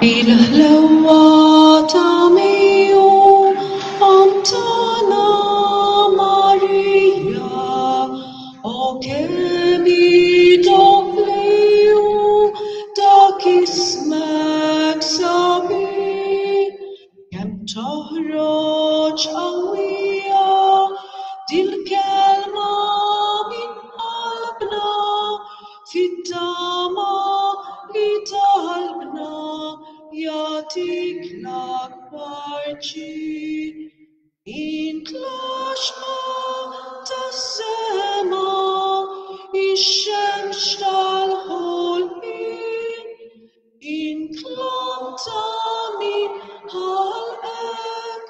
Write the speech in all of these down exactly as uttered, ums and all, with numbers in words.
Bil-ħlewwa ta' miegħu Omm tagħna Marija, o kemm idoqq dak ismek sabiħ, kemm toħroġ qawwija dil-kelma minn qalbna fit-tama li talbna jagħtik l-akbar ġid. Int l-għaxqa tas-sema, ix-xemx tal-ħolqien, int l-omm ta' min ħalqek,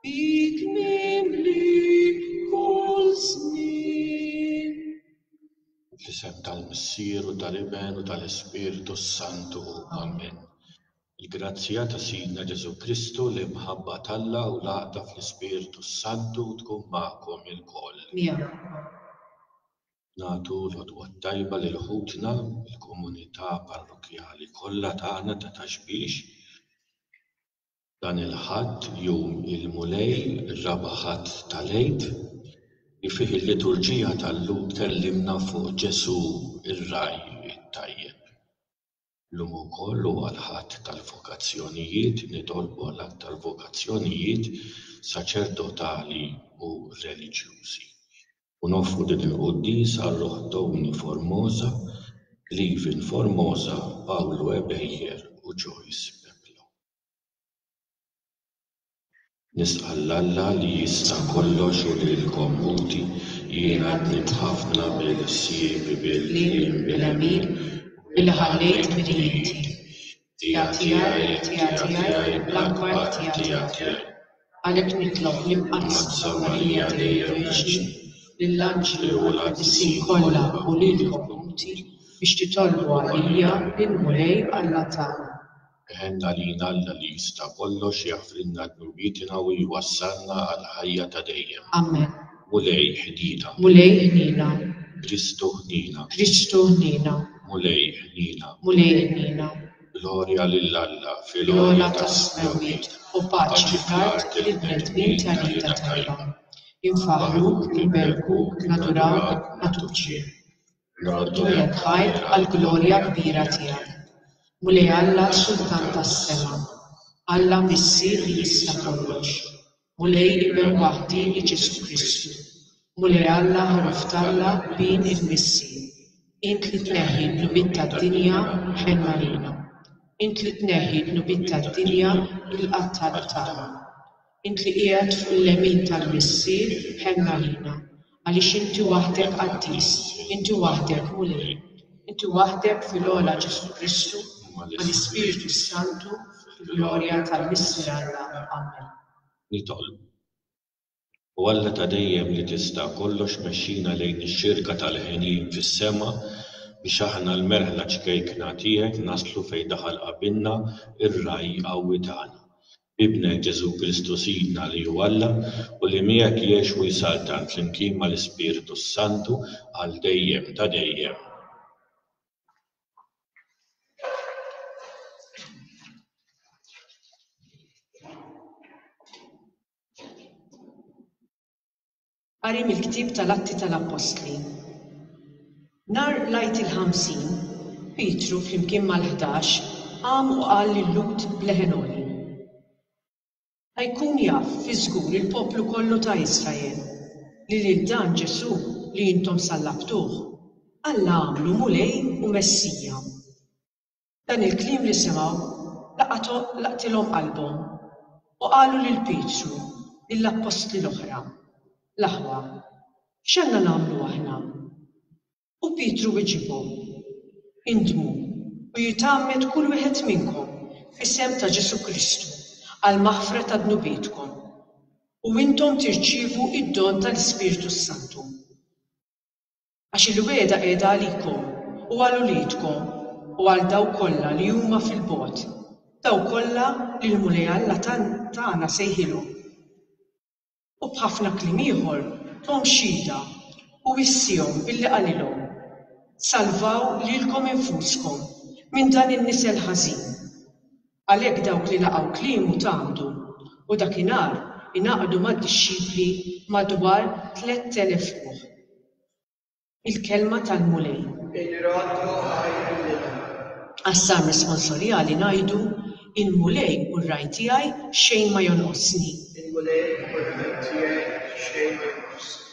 bik mimli kull żmien. Fl-isem tal-Missier u tal-Iben u tal-Ispirtu s-Santu. Amen. Il-grazzja ta' Sidna Ġesù Kristu, l-imħabba t'Alla u l-għaqda fl-Ispirtu s-Santu tkun magħkom ilkoll. Miegħek. Nagħtu l-għodwa t-tajba lil ħutna, il-komunità parrokkjali kollha tagħna ta' Ta' Xbiex. Dan il-Ħadd, jum il-Mulej, ir-raba' Ħadd tal-Għid, li fih il-liturġija tal-lum tkellimna fuq Ġesù ir-ragħaj it-tajjeb. Illum ukoll huwa l-Ħadd tal-vokazzjonijiet, nitolbu għal aktar vokazzjonijiet saċerdotali u reliġjużi. U noffru din il-quddiesa għal ruħ Tony Formosa, Cleven Formosa, Paolo Ebejer u Joyce Peplo. Nisqal Alla li jista' kollox u lilkom ħuti, jiena dnibt ħafna bil-ħsieb, bil-kliem, bil-għemil, billi ħallejt dmirijieti. Ħtija tiegħi, ħtija tiegħi, l-akbar ħtija tiegħi. Għalhekk nitlob l-Imqaddsa Marija dejjem Verġni, lill-anġli u l-qaddisin kollha u lilkom ħuti biex titolbu għalija lill-Mulej Alla tagħna. Iħenn għalina Alla li jista' kollox, jaħfrilna dnubietna u jwassalna għall-ħajja ta' dejjem. Amen. Mulej ħnina. Mulej ħnina. Kristu ħnina. Kristu ħnina. Mulej ħnina. Mulej ħnina. Glorja lil Alla fil-ogħla tas-smewwiet u paċi fl-art lill-bnedmin ta' rieda tajba. Infaħħruk, inberkuk, nadurawk, nagħtuk ġieħ. Nroddulek ħajr għall-glorja kbira tiegħek. Mulej Alla, Sultan tas-sema, Alla Missier li jista' kollox, Mulej Iben waħdieni Ġesù Kristu, Mulej Alla ħaruf t'Alla bin il-Missier, int li tneħħi d-dnubiet tad-dinja, ħenn għalina. Int li tneħħi d-dnubiet tad-dinja, ilqa' t-talb tagħna. Int li qiegħed fuq il-lemin tal-Missier, ħenn għalina, għaliex inti waħdek qaddis, inti waħdek Mulej, inti waħdek fil-ogħla Ġesù Kristu, mal-Ispirtu s-Santu, fil-glorja tal-Missier Alla. Amen. Nitolbu. O Alla ta' dejjem li tista' kollox, mexxina lejn ix-xirka tal-ħenien fis-sema biex aħna l-merħla ċkejkna tiegħek naslu fejn daħal qabilna ir-ragħaj qawwi tagħna. B'Ibnek Ġesù Kristu Sidna li hu Alla u li miegħek jgħix u jsaltan flimkien mal-Ispirtu s-Santu għal dejjem ta' dejjem. Qari mill-ktieb tal-Atti tal-Appostli. Nhar l-Għid il-ħamsin, Pietru flimkien mal-ħdax qam u qal lil-Lhud b'leħen għoli. Ħa jkun jaf fi żgur il-poplu kollu ta' Israel li lil dan Ġesù li intom sallabtuh, Alla għamlu Mulej u Messija. Dan il-kliem li semgħu laqtilhom qalbhom u qalu lil Pietru, lill-appostli l-oħra, L-aħwa, x'għandna nagħmlu aħna? U Pietru wiġibhom, Indmu u jitgħammed kull wieħed minnkom f'isem ta' Ġesù Kristu għall-maħfra ta' dnubietkom, u intom tirċievu d-don tal-Ispirtu s-Santu. Għax il-wegħda qiegħda għalikom u għal uliedkom u għal dawk kollha li huma fil-bogħod, dawk kollha li l-Mulej Alla tagħna sejħilhom. U b'ħafna kliem ieħor thom xhieda u wissihom billi qalilhom, Salvaw lilkom infuskom minn dan in-nisel ħażin. Għalhekk dawk li laqgħu kliemu tgħammdu, u dakinhar ingħaqdu mad-dixxipli madwar tlett elef ruħ. Il-kelma tal-Mulej. Inroddu ħajr lil Alla. Għas-Salm responsorjali ngħidu, Il-Mulej hu r-ragħaj tiegħi, xejn ma jonqosni. Il-Mulej hu r-ragħaj tiegħi, xejn ma jonqosni.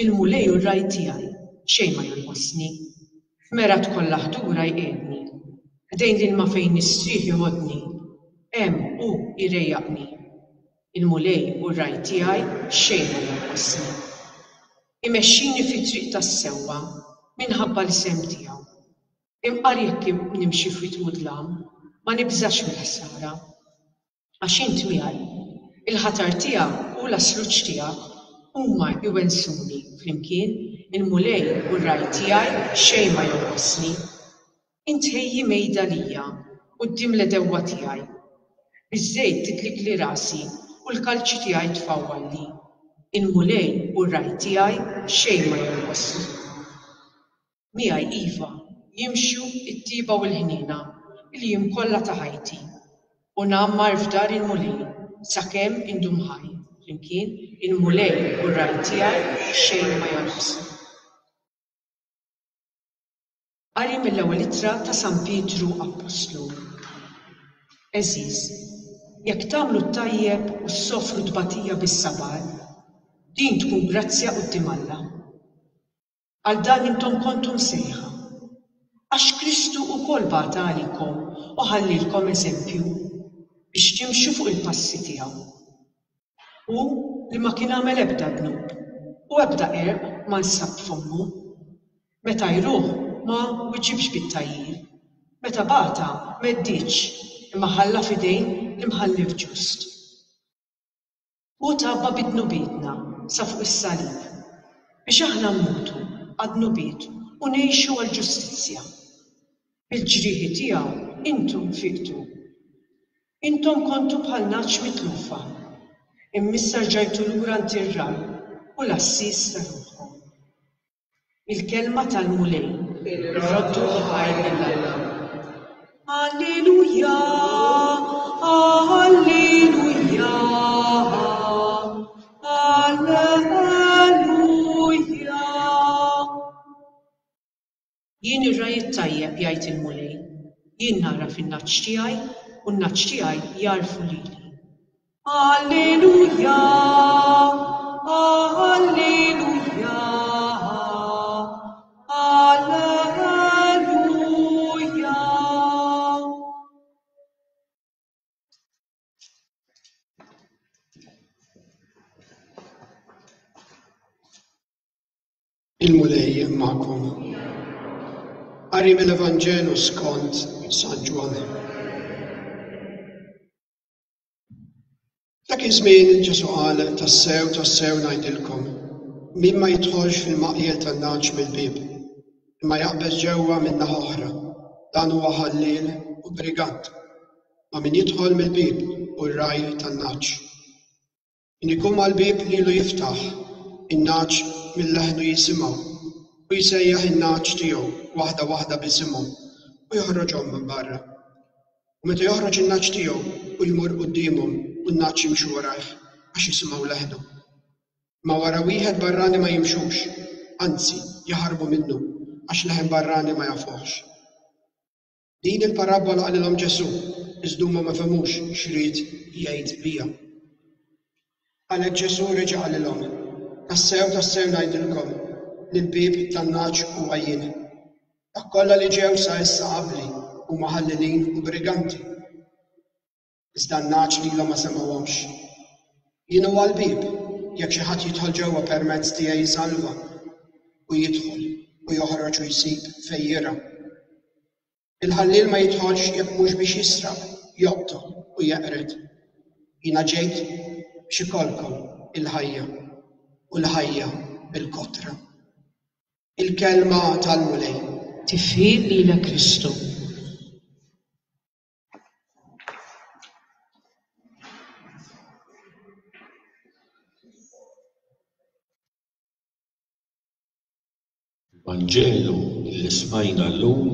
Il-Mulej hu r-ragħaj tiegħi, xejn ma jonqosni. F'mergħat kollha ħdura jqiegħdni. Ħdejn l-ilma fejn nistrieħ joħodni. Hemm hu jrejjaqni. Il-Mulej hu r-ragħaj tiegħi, xejn ma jonqosni. Imexxini fit-triq tas-sewwa minħabba l-isem tiegħu. Imqar jekk nimxi f'wied mudlam, ma nibżax mill-ħsara. Għax int miegħi, il-ħatar tiegħek u l-asluġ tiegħek huma jwensuni flimkien, il-Mulej u r-ragħaj tiegħi xejn ma jonqosni. Int ħejji mejda lija quddiem l-għedewwa tiegħi. Biż-żejt tidlikli rasi u l-kalċi tiegħi tfawwalli. Il-Mulej u r-ragħaj tiegħi xejn ma jonqosni. Miegħi iva jimxu t-tjieba u l-ħniena il-jiem kollha ta' ħajti, u ngħammar f'dar il-Mulej sakemm indum ħaj. Flimkien, il-Mulej u r-ragħaj tiegħi xejn ma jonqosni. Qari mill-ewwel ittra ta' San Pietru Appostlu. Għeżież, jekk tagħmlu t-tajjeb u ssofru tbatija bis-sabar, din tkun grazzja quddiem Alla. Għal dan intom kontu msejħa, għax Kristu wkoll bata għalikom u ħallilkom eżempju biex timxu fuq il-passi tiegħu. Hu li ma kien għamel ebda dnub u ebda qerq ma nsab f'fommu. Meta jruħ ma wiġibx bit-tgħajjir, meta bata m'għeddietx, imma ħalla f'idejn l-imħallef ġust. Hu tgħabba bi dnubietna sa fuq is-salib, biex aħna mmutu għad-dnubiet u ngħixu għall-ġustizzja. Bil-ġrieħi tiegħu intom fiqtu. Intom kontu bħal nagħaġ mitlufa, imma issa rġajtu lura għand ir-ragħaj u l-għassies ta' ruħkom. Il-kelma tal-Mulej. Irroddu ħajr lil Alla. Alleluja, alleluja, alleluja. Jien ir-ragħaj it-tajjeb, jgħid il-Mulej, jien nagħraf in-nagħaġ tiegħi u n-nagħaġ tiegħi jagħrfu lili. Alleluja, alleluja, alleluja. Il-Mulej magħkom. Qari mill-Evanġelu skont San Ġwann. Dak iż-żmien Ġesù qal, tassew, tassew ngħidilkom, min ma jidħolx fil-maqjel tan-nagħaġ mill-bieb, imma jaqbeż ġewwa minn naħa oħra, dan huwa ħalliel u brigant. Ma min jidħol mill-bieb hu r-ragħaj tan-nagħaġ. Min ikun mal-bieb lilu jiftaħ, in-nagħaġ minn leħnu jisimgħu, u jsejjaħ in-nagħaġ tiegħu waħda waħda b'isimhom u joħroġhom minn barra. U meta joħroġ in-nagħaġ tiegħu u jmur quddiemhom u n-nagħaġ jimxu warajh għax jisimgħu leħnu. Ma wara wieħed barrani ma jimxux, anzi jaħarbu minnu għax leħen barrani ma jafuhx. Din il-parabbola qalilhom Ġesù, iżda huma ma fehmux x'ried jgħid biha. Għalhekk Ġesù reġa' qalilhom, tassew, tassew ngħidilkom li l-bieb tan-nagħaġ huwa jien. Dak kollha li ġew sa issa qabli huma ħallelin u briganti, Iżda n-nagħaġ lilhom ma semgħuhomx. Jien huwa l-bieb, jekk xi ħadd jidħol ġewwa permezz tiegħi jsalva, u jidħol u joħroġ u jsib fejn jirgħa. Il-ħalliel ma jidħolx jekk mhux biex jisraq, joqtol u jeqred. Jiena ġejt biex ikollkom il-ħajja, u l-ħajja bil-kotra. Il-kelma tal-Mulej. Tifħir lilek Kristu. Il-Vanġelu li smajna llum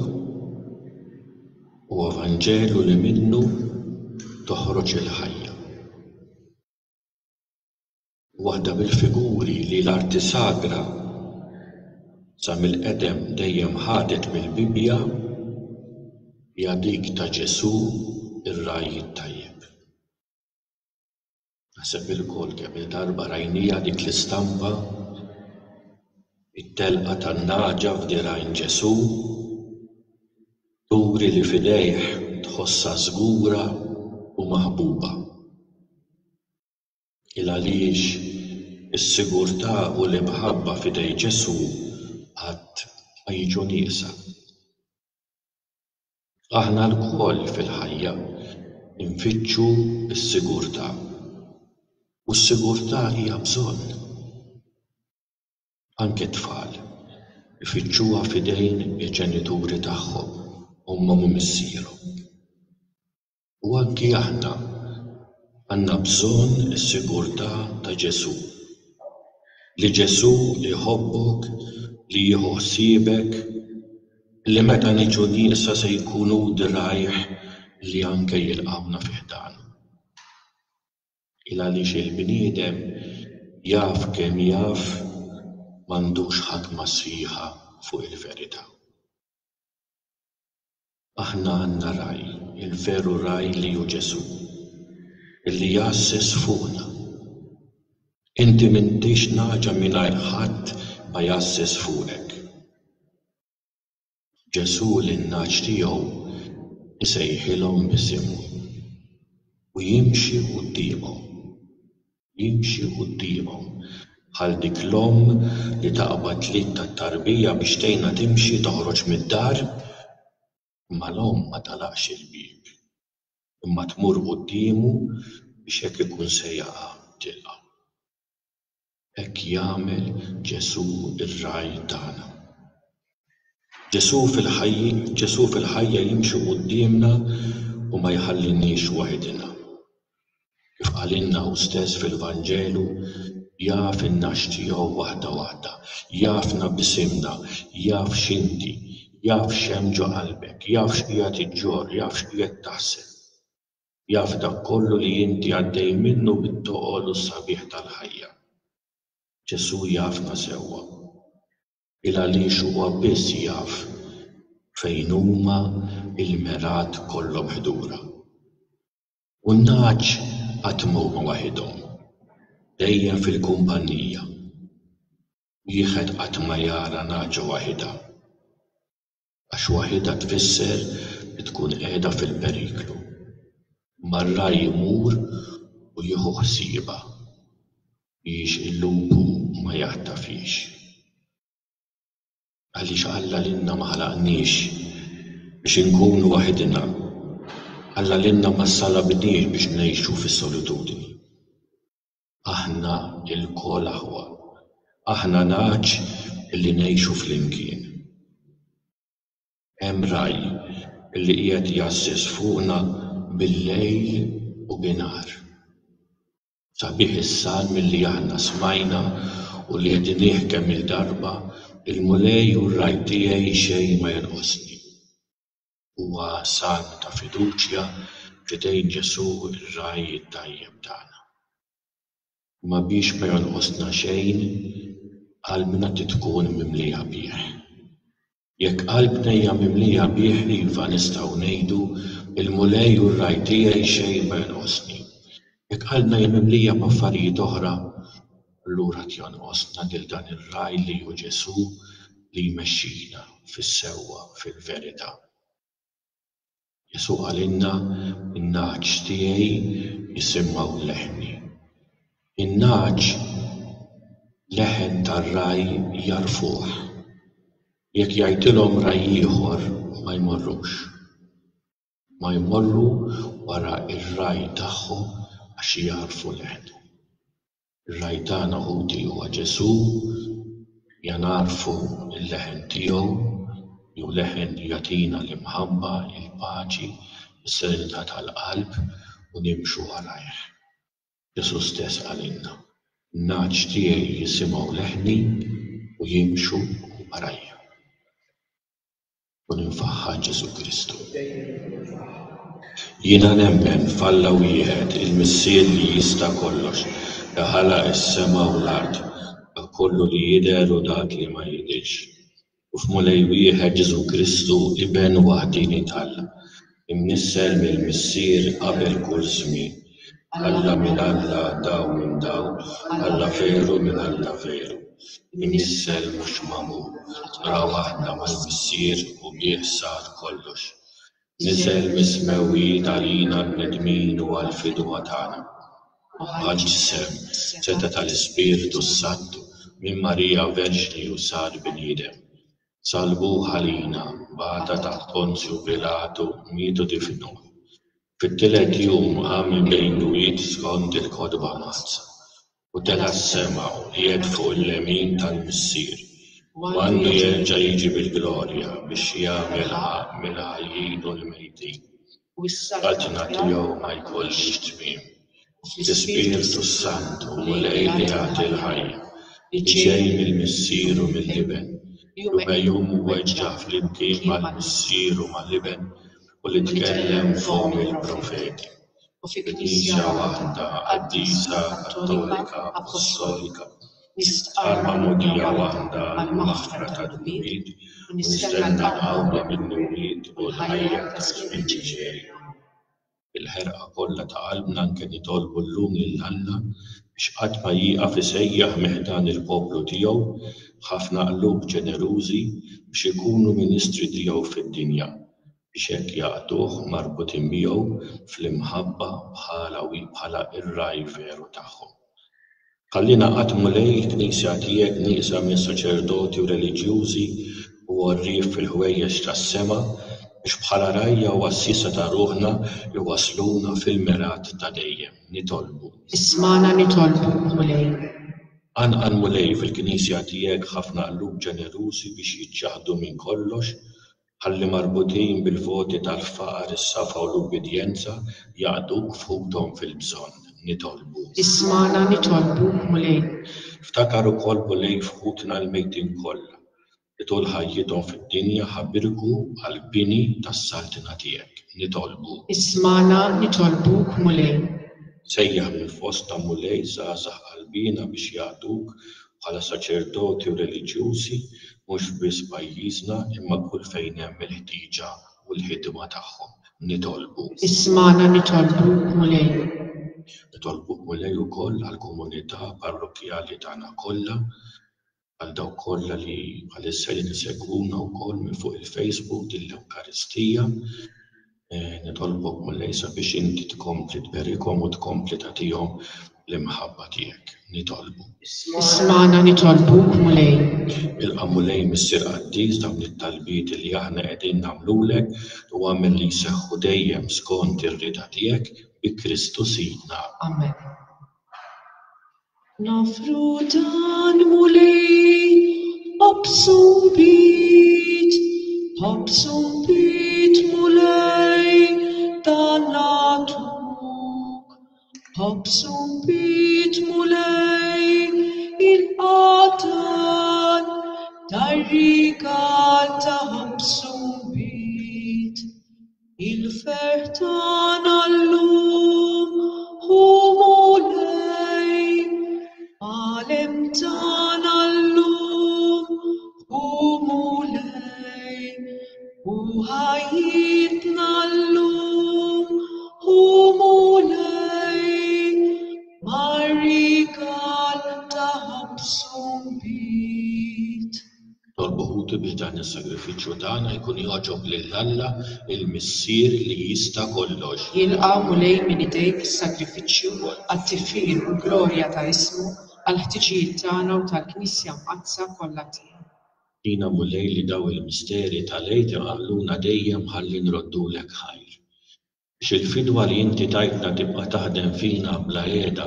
huwa Vanġelu li minnu toħroġ il-ħajja. Waħda mill-figuri li l-arti sagra sa mill-qedem dejjem ħadet mill-Bibbja hija dik ta' Ġesù ir-ragħaj it-tajjeb. Naħseb ilkoll kemm il-darba rajnija dik l-istampa, it-telqa tan-nagħġa f'dirgħajn Ġesù, turi li f'idejh tħossha żgura u maħbuba. Il għaliex is-sigurtà u l-imħabba f'idej Ġesù qatt ma jiġu nieqsa. Aħna lkoll fil-ħajja nfittxu s-sigurtà, u s-sigurtà hija bżonn. Anke t-tfal ifittxuha f'idejn il-ġenituri tagħhom, ommhom u missierhom. U anki aħna għandna bżonn is-sigurtà ta' Ġesù. Li Ġesù iħobbok, li jieħu ħsiebek, li meta niġu nieqsa se jkunu dirgħajh li anke jilqawna fi ħdanu. Il għaliex il-bniedem jaf kemm jaf m'għandux ħakma sħiħa fuq il-verità. Aħna għandna ragħaj, il-veru ragħaj li hu Ġesù, illi jgħasses fuqna. Inti m'intix nagħġa mingħajr ħadd ma jgħasses fuqek. Ġesù lin-nagħaġ tiegħu isejħilhom b'isimhom u jimxi quddiemhom, jimxi quddiemhom bħal dik l-omm li taqbad l-id tat-tarbija biex tgħinha timxi toħroġ mid-dar, imma l-omm ma tagħlaqx il-bieb, imma tmur quddiemu biex jekk ikun se jaqa' tilqa'. Hekk jagħmel Ġesù r-ragħaj tagħna. Ġesù fil-ħajja, Ġesù fil-ħajja jimxi quddiemna u ma jħalliniex waħedna. Kif qalilna hu stess fil-Vanġelu, jaf in-nagħaġ tiegħu waħda waħda, jafna b'isimna, jaf x'inti, jaf x'hemm ġo qalbek, jaf x'qiegħed iġġorr, jaf x'qiegħed taħseb. Jaf dak kollu li inti għaddej minnu bit-toqol u s-sabiħ tal-ħajja. Ġesù jafna sewwa. Il għaliex huwa biss jaf fejn huma il-mergħat kollhom ħdura. U n-nagħaġ qatt ma huma waħedhom, dejjem fil-kumpanija. Wieħed qatt ma jara nagħġa waħedha, għax waħedha tfisser li tkun qiegħda fil-periklu. Imma r-ragħaj imur u jieħu ħsiebha biex il-lupu ma jaħtafhiex. Għaliex Alla lilna ma ħalaqniex biex inkunu waħedna. Alla lilna ma salabniex biex ngħixu fis-solitudni. Aħna lkoll aħwa, aħna nagħaġ illi ngħixu flimkien. Hemm ragħaj illi qiegħed jgħasses fuqna bil-lejl u binhar. Sabiħ is-salm illi aħna smajna u li għednieh kemm il-darba, il-Mulej u r-ragħaj tiegħi xejn ma jonqosni. Huwa salm ta' fiduċja f'idejn Ġesù r-ragħaj it-tajjeb tagħna. Imma biex ma jonqosna xejn, qalbna trid tkun mimlija bih. Jekk qalbna hija mimlija bih, iva nistgħu ngħidu il-Mulej u r-ragħaj tiegħi xejn ma jonqosni. Jekk qalbna hija mimlija b'affarijiet oħra, allura jonqosna lil dan ir-ragħaj li hu Ġesù li jmexxina fis-sewwa, fil-verità. Ġesù qalilna, in-nagħaġ tiegħi jisimgħu leħni. In-nagħaġ leħen tar-ragħaj jagħrfuh. Jekk jgħidilhom ragħaj ieħor ma jmorrux. Ma jmorru wara r-ragħaj tagħhom għax jagħrfu leħnu. Ir-ragħaj tagħna ħuti huwa Ġesù, ja nagħrfu l-leħen tiegħu, jew leħen li jagħtina l-imħabba, il-paċi, is-serenità tal-qalb u nimxu warajh. Ġesù stess qalilna, in-nagħaġ tiegħi jisimgħu leħni u jimxu warajja. Kun imfaħħar Ġesù Kristu. Jiena nemmen f'Alla wieħed, il-Missier li jista' kollox, li ħalaq is-sema u l-art, dak kollu li jidher u dak li ma jidhirx. U f'Mulej wieħed Ġesù Kristu, Iben waħdieni t'Alla, imnissel mill-Missier qabel kull żmien. Alla minn Alla, dawl minn dawl, Alla veru minn Alla veru. Imnissel mhux magħmul, natura waħda mal-Missier u bih sar kollox. Niżel mis-smewwiet għalina l-bnedmin u għall-fidwa tagħna. Ħa ġisem, setgħa tal-Ispirtu s-Santu, minn Marija Verġni u sar bniedem. Salbuh għalina, bata taħt Ponzju Pilatu, miet u difnuh. Fit-tielet jum qam minn bejn l-imwiet skont il-Kotba Mqaddsa, u tela' s-sema u qiegħed fuq il-lemin tal-Missier, u għandu jerġa' jiġi bil-glorja biex jagħmel ħaqq mill-ħajjin u l-mejtin. U s-saltna Saltna tiegħu ma jkollhiex tmiem. L-Ispirtu s-Santu, Mulej li jagħti l-ħajja, li ġej mill-Missier u mill-Iben, li hu megħjun u mweġġa' flimkien mal-Missier u mal-Iben, u li tkellem fomm il-profeti. U fi Knisja waħda, qaddisa, kattolika, apostolika, nistqarr magħmudija waħda għall-maħfra tad-dnubiet, u nistenna l-qawma mill-imwiet u l-ħajja taż-żmien li ġej. Bil-ħerqa kollha ta' qalbna anke nitolbu llum lil Alla biex qatt ma jieqaf isejjaħ minn ħdan il-poplu tiegħu ħafna qlub ġenerużi biex ikunu ministri tiegħu fid-dinja, biex hekk jaqduh marbutin miegħu fl-imħabba bħala bħala r-ragħaj veru tagħhom. Ħallina qatt Mulej il-Knisja tiegħek nieqsa minn saċerdoti u reliġjużi u għorrief fil-ħwejjeġ tas-sema biex bħala rgħajja u għassiesa ta' ruħna iwassluna fil-mergħat ta' dejjem. Nitolbu. Ismagħna nitolbuk, Mulej. Qanqal Mulej fil-Knisja tiegħek ħafna qlub ġenerużi biex jiċċaħdu minn kollox, ħalli marbutin bil-voti tal-faqar, is-safa u l-ubbidjenza jaqduk f'ħuthom fil-bżonn. Nitolbu. Ismagħna nitolbuk, Mulej. Ftakar ukoll Mulej f'ħutna l-mejtin kollha, li tul ħajjithom fid-dinja ħabirku għall-bini tas-saltna tiegħek. Nitolbu. Ismagħna nitolbuk, Mulej. Sejjaħ minn fostna Mulej żgħażagħ qalbina biex jaqduk bħala saċerdoti u reliġjużi mhux biss pajjiżna imma kull fejn hemm il-ħtieġa u l-ħidma tagħhom. Nitolbu. Ismagħna nitolbuk, Mulej. Nitolbuk Mulej ukoll għall-komunità parrokkjali tagħna kollha, għal dawk kollha li bħalissa qegħdin isegwuna wkoll minn fuq il-Facebook din l-Ewkaristija. Nitolbok Mulej sabiex inti tkompli tberikhom u tkompli tagħtihom l-imħabba tiegħek. Nitolbu. Ismagħna nitolbuk, Mulej. Ilqa' Mulej Missier Qaddis dawn it-talbiet li aħna qegħdin nagħmlulek u agħmel li jseħħu dejjem skont ir-rieda tiegħek bi Kristu Sidna. Amen. Nofru dan Mulej, ħobż u nbid, ħobż u nbid Mulej, dan nagħtuk. Ħobż u nbid Mulej, il-qatan, dar-rigal ta' ħobż u nbid. Il-ferħ tagħna llum hu Mulej, għalem tagħna llum hu Mulej, u ħajjitna llum hu Mulej, mar-rigal ta' ħobż u nbid. Nitolbu Nitolbuk biex dan is-sagrifiċċju tagħna jkun jogħġob lil Alla il-Missier li jista' kollox. Jilqa' Mulej minn idejk is-sagrifiċċju għat-tifħir u l-glorja ta' ismu, għall-ħtiġijiet tagħna u tal-Knisja Mqaddsa kollha tiegħu. Tina Mulej li daw il-misteri tal-Għid iqanqluna dejjem ħalli nroddulek ħajr. Biex il-fidwa li inti tajtna tibqa' taħdem fina bla qiegħda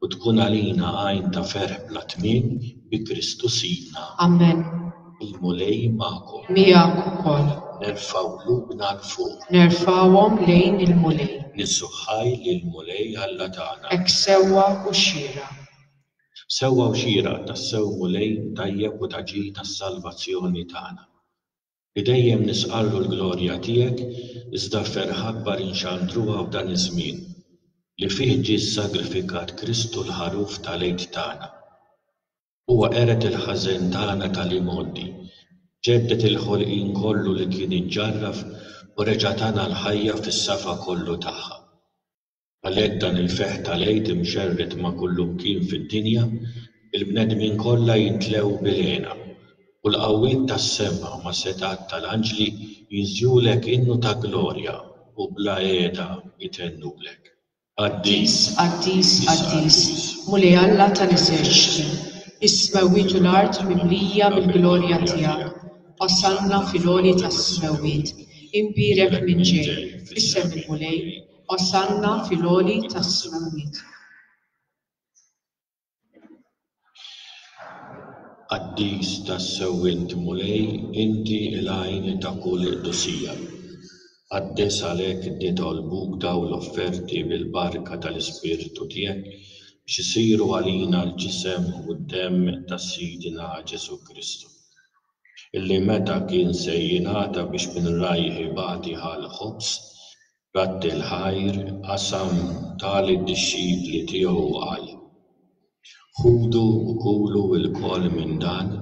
u tkun għalina għajn ta' ferħ bla tmiem bi Kristu Sidna. Amen. Il-Mulej magħkom. Miegħek ukoll. Nerfgħu qlubna 'l fuq. Nerfgħuhom lejn il-Mulej. Niżżu ħaj lill-Mulej Alla tagħna. Hekk sewwa u xieraq. Sewwa u xieraq tassew Mulej tajjeb u ta' ġid tas-salvazzjoni tagħna. Li dejjem nisqarru l-glorja tiegħek, iżda ferħ akbar inxandruha f'dan iż-żmien li fih ġie ssagrifikat Kristu l-ħaruf tal-Għid tagħna. Huwa qered il-ħażen tagħna tal-imgħoddi, ġedded il-ħolqien kollu li kien iġġarraf u reġa' tana l-ħajja fis-safa kollu tagħha. Għalhekk dan il-ferħ tal-Għid imxerred ma' kullumkien fid-dinja, il-bnedmin kollha jintlew bil-hena u l-qawwiet tas-sema ma' setat tal-anġli jinżjulek innu ta' glorja u bla qiegħda jtennulek. Qaddis, qaddis, qaddis, Mulej Alla tal-eżerċti, is-smewwiet u l-art mimlija mill-glorja tiegħek. Osanna fil-għoli tas-smewwiet, imbierek minn ġej, f'isem il-Mulej, Osanna fil-għoli tas-smewwiet. Qaddis tassew int Mulej, inti l-għajn ta' kull qdusija. Qaddes għalhekk nitolbuk daw l-offerti bil-barka tal-Ispirtu tiegħek biex isiru għalina l-ġisem u d-demm ta' Sidna Ġesù Kristu. Illi meta kien se jingħata biex minn rajh ibati ħa l-ħobż, radd il-ħajr, qasam ta lid-dixxipli tiegħu u qal: Ħudu u kulu lkoll minn dan,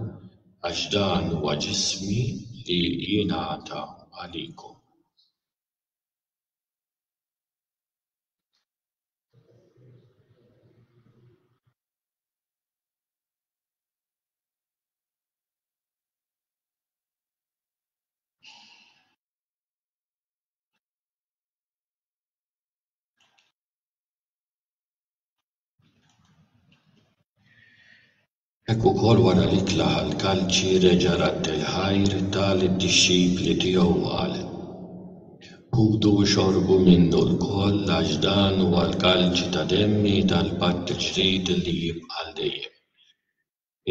għax dan huwa ġismi li jingħata għalikom. Hekk ukoll wara l-ikla ħall-kalċi reġa' radd il-ħajr ta lid-dixxipli tiegħu u qal: Ħudu u xorbu minnu lkoll għax dan huwa l-kalċi ta' demmi tal-patt il-ġdid li jibqa' għal dejjem.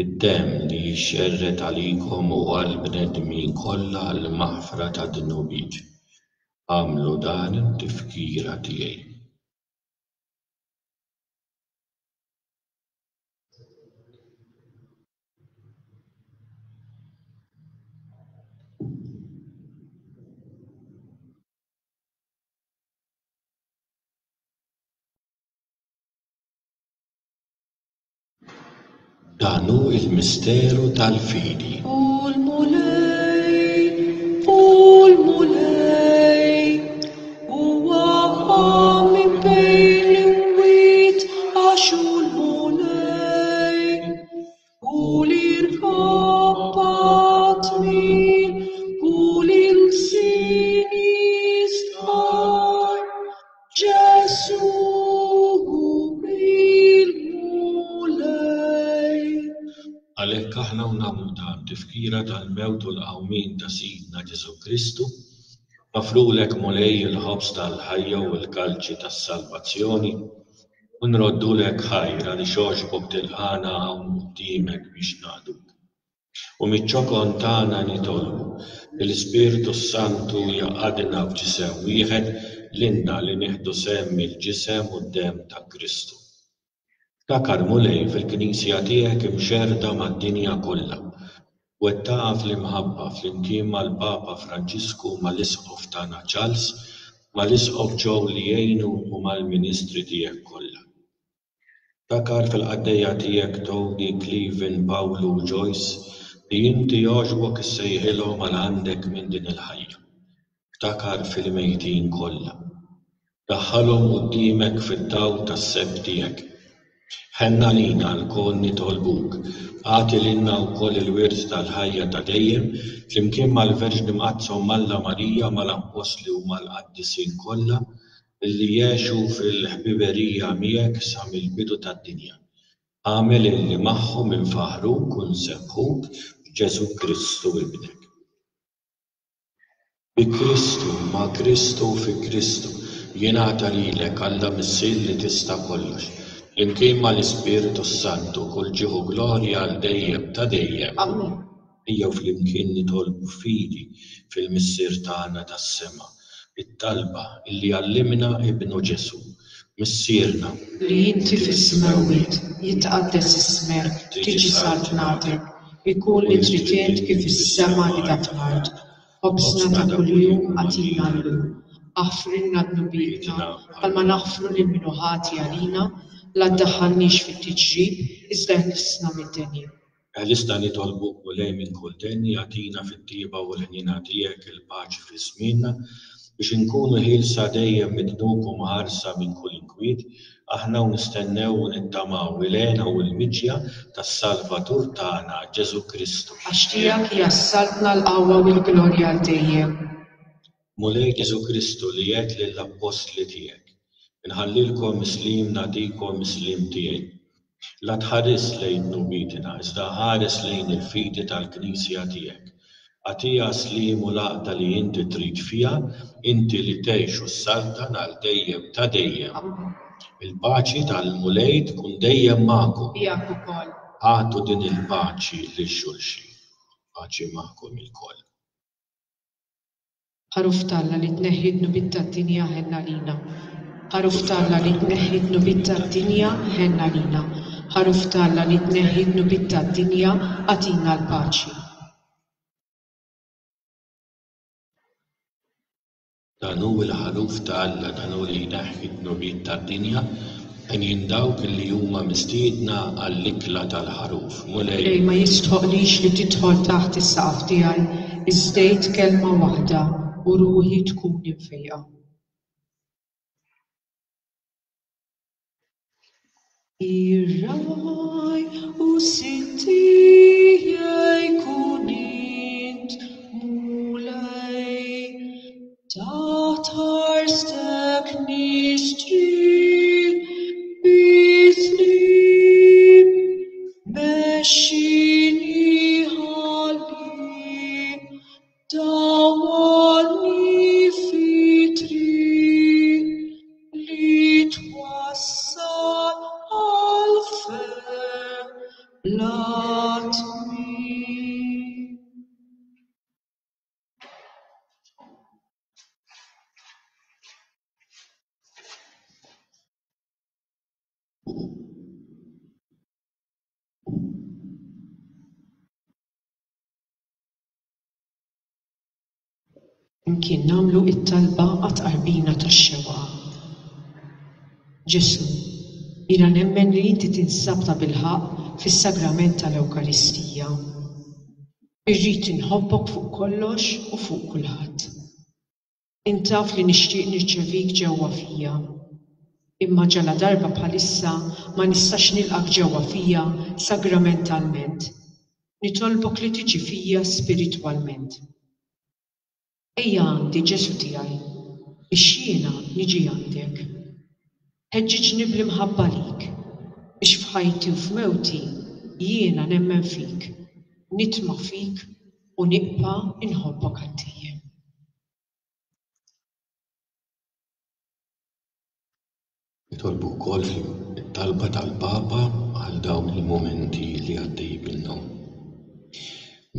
Id-demm li jixxerred għalikom u għall-bnedmin kollha għall-maħfra tad-dnubiet. Agħmlu dan tifkira tiegħi. Dan hu l-misteru tal-fidi. U l-Mulej, u l-Mulej, huwa qam minn bejn l-imwiet għax hu l-Mulej. U l-irkabbat tmil, u l-ilsien jistqarr, Ġesù il-Mulej. Għalhekk aħna u nagħmlu dan tifkira tal-mewt u l-qawmien ta' Sidna Ġesù Kristu, nofrulek Mulej il-ħobż tal-ħajja u l-kalċi tas-salvazzjoni u nroddulek ħajr għaliex għoġbok tilqagħna hawn quddiemek biex naqduk. U miċ-ċokon tagħna nitolbu li l-Ispirtu Santu jaqadna f'ġisem wieħed lilna li nieħdu sehem mill-ġisem u d-demm ta' Kristu. Ftakar Mulej fil-Knisja tiegħek imxerrda mad-dinja kollha. Wettaqha fl-imħabba flimkien mal-Papa Franġisku, mal-Isqof tagħna Charles, mal-Isqof Joe li jgħinu u mal-ministri tiegħek kollha. Ftakar fil-qaddejja tiegħek Tony, Cleven, Pawlu u Joyce li inti jogħġbok issejħilhom għal għandek minn din il-ħajja. Ftakar fil-mejtin kollha. Daħħalhom quddiemek fid-dawl tas-sebħ tiegħek. Ħenn għalina lkoll nitolbuk, agħti lilna wkoll il-wirt tal-ħajja ta' dejjem, flimkien mal-Verġni Mqaddsa u Alla Marija, mal-Appostli u mal-Qaddisin kollha, illi jgħixu fil-ħbiberija miegħek sa mill-bidu tad-dinja. Agħmel illi magħhom infaħħruk u nsebbħuk b'Ġesù Kristu Ibnek. Bi Kristu, ma' Kristu u fi Kristu, jingħata lilek Alla Missier li tista' kollox, flimkien mal-Ispirtu Santu, kull ġieħ u glorja għal dejjem ta' dejjem. Amen. Ejjew flimkien nitolbu fidi fil-Missier tagħna tas-sema, it-talba illi għallimna Ibnu Ġesù. Missierna, li inti fis-smewwiet, jitqaddes ismek, tiġi saltnatek, ikun li trid int kif fis-sema qiegħda fl-art. Ħobżna ta' kuljum agħtina llum. Aħfrilna dnubietna bħalma naħfru lil min hu ħati għalina, la ddaħħalniex fit-tiġrib, iżda eħlisna mid-deni. Eħlisna nitolbuk Mulej minn kull deni, agħtina fit-tjieba u l-ħniena tiegħek il-paċi fi żmienna, biex inkunu ħielsa dejjem mid-dnub u mħarsa minn kull inkwiet, aħna u nistennew u nittamaw il-hena u l-miġja tas-Salvatur tagħna Ġesù Kristu. Għax tiegħek hija s-saltna, l-qawwa u l-glorja għal dejjem. Mulej Ġesù Kristu li għedt lill-appostli tiegħek, inħallilkom is-sliem, nagħtikom is-sliem tiegħi. La tħares lejn dnubietna, iżda ħares lejn il-fidi tal-Knisja tiegħek. Agħtiha sliem u l-għaqda li inti trid fiha, inti li tgħix u ssaltan għal dejjem ta' dejjem. Amen. Il-paċi tal-Mulej tkun dejjem magħkom. Miegħek ukoll. Agħtu din il-paċi lil xulxin. Paċi magħkom ilkoll. Ħaruf t'Alla li tneħħi d-dnubiet tad-dinja, ħenn għalina. Ħaruf t'Alla li tneħħi d-dnubiet tad-dinja, ħenn għalina. Ħaruf t'Alla li tneħħi d-dnubiet tad-dinja, agħtina l-paċi. Dan hu l-ħaruf ta' Alla, dan hu li jneħħi d-dnubiet tad-dinja, henjin dawk li huma mistiedna għall-ikla tal-ħaruf. Mulej, Mulej, ma jistħoqlix li tidħol taħt is-saqaf tiegħi, iżda għid kelma waħda u ruħi tkun imfejqa. Ir-ragħaj u sid tiegħi kun int, Mulej, taħt ħarstek nistrieħ bi-sliem, mexxini ħalli dawwarni fi triq li twassal għal ferħ bla tmiem. Imkien nagħmlu it-talba għat-tqarbina tax-xewqa. Ġesù, jiena nemmen li inti tinsab ta' bilħaqq fis-sagrament tal-Ewkaristija. Irrid inħobbok fuq kollox u fuq kulħadd. Intaf li nixtieq nirċevik ġewwa fija. Imma ġala darba bħalissa ma nistax nilqak ġewwa fija sagramentalment. Nitolbok li tiġi fija spiritwalment. Ejja għandi Ġesù tiegħi, biex jiena niġi għandek. Ħeġġiġni bl-imħabba lik, biex f'ħajti u f'mewti jiena nemmen fik, nitma' fik u nibqa' inħobbok għal dejjem. Nitolbu wkoll it-talba tal-Papa għal dawn il-mumenti li għaddej minnhom.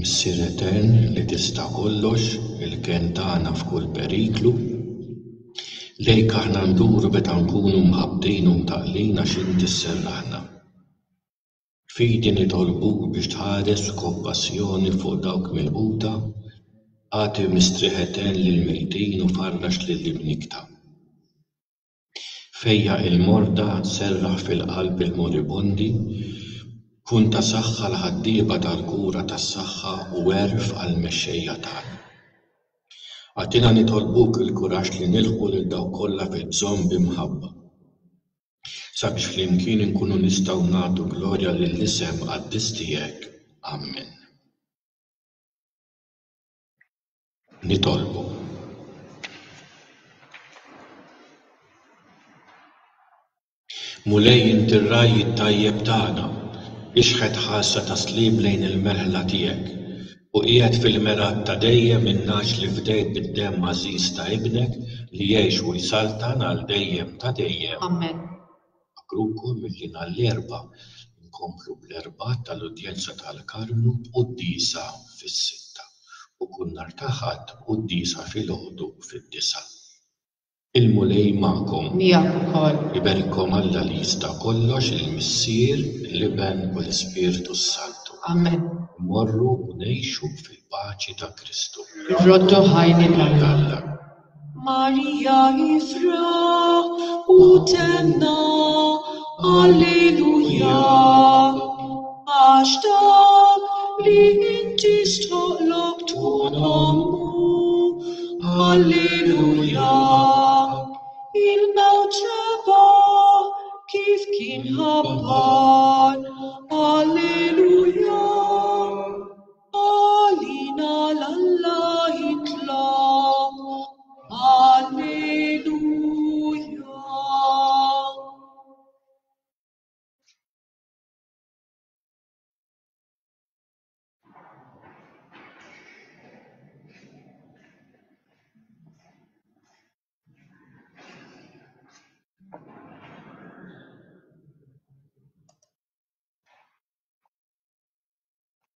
Missier Etern li tista' kollox, il-kenn tagħna f'kull periklu, lejk aħna nduru meta nkunu mħabbtin u mtaqlin għax inti sserraħna. Fidi nitolbuk biex tħares b'kompassjoni fuq dawk milquta, agħti mistrieħ etern lill-mejtin u farrax lill-imnikta. Fejjaq il-morda, serraħ fil-qalb il-moribondi, kun ta' saħħa l-ħaddiema tal-kura tas-saħħa u għerf għall-mexxejja tagħna. Agħtina nitolbuk il-kuraġġ li nilħqu lil dawk kollha fil-bżonn b'imħabba. Sabiex flimkien inkunu nistgħu nagħtu glorja lill-isem qaddis tiegħek. Amen. Nitolbu. Mulej inti r-ragħaj it-tajjeb tagħna, ixħet ħarsa ta' sliem lejn il-merħla tiegħek u qiegħed fil-mergħat ta' dejjem in-nagħaġ li fdejt bid-demm għażiż ta' ibnek li jgħix u jsaltan għal dejjem ta' dejjem. Amen. Nfakkrukom milli nhar l-Erbgħa nkomplu bl-Erbgħat tal-Udjenza tal-Karmnu b'quddiesa fis-sitta u kull nhar ta' Ħadd b'quddiesa filgħodu fid-disgħa. Il-Mulej magħkom. Miegħek ukoll. Iberikkom Alla li jista' kollox, il-Missier, l-Iben u l-Ispirtu s-Santu. Amen. Morru u ngħixu fil-paċi ta' Kristu. Irroddu ħaj lil Alla. Alla. Marija ifraħ u tenna Alleluja, għax dak li inti stħoqlok tkun ommu. Alleluja, il-mewt rebaħ kif kien ħabbar. Alleluja.